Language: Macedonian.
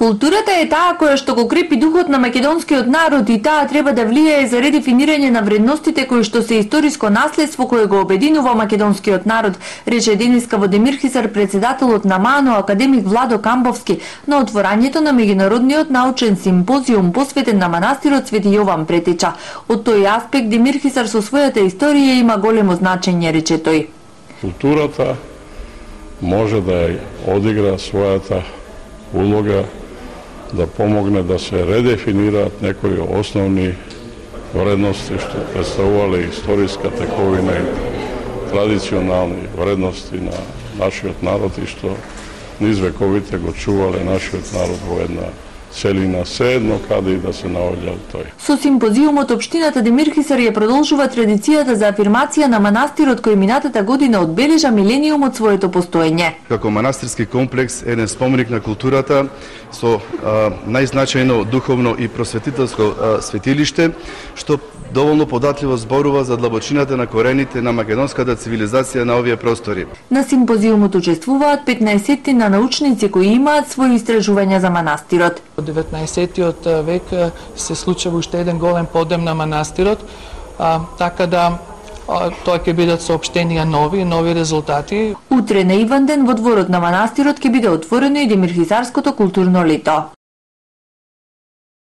Културата е таа која што го крепи духот на македонскиот народ и таа треба да влијае за редефинирање на вредностите кои што се историско наследство кое го обединува македонскиот народ, рече денеска во Демирхисар председателот на МАНО академик Владо Камбовски на отворањето на меѓународниот научен симпозиум посветен на манастирот Свети Јован Претеча. Од тој аспект Демирхисар со својата историја има големо значење, рече тој. Културата може да одигра својата улога да помогне да се редефинираат некои основни вредности што представувале историска тековина и традиционални вредности на нашиот народ и што низ вековите го чувале нашиот народ во една целина, седно каде и да се наоѓал тој. Со симпозиумот општината Демирхисар ја продолжува традицијата за афирмација на манастирот кој минатата година одбележа милениум од своето постоење. Како манастирски комплекс е еден споменик на културата со најзначајно духовно и просветителско светилиште што доволно податливо зборува за длабочината на корените на македонската цивилизација на овие простори. На симпозиумот учествуваат 15 на научници кои имаат своји истражувања за манастирот. Во 19-тиот век се случува уште еден голем подем на манастирот, така да тоа ќе бидат соопштенија нови резултати. Утре на Иванден во дворот на манастирот ќе биде отворено и Демирхисарското културно лето.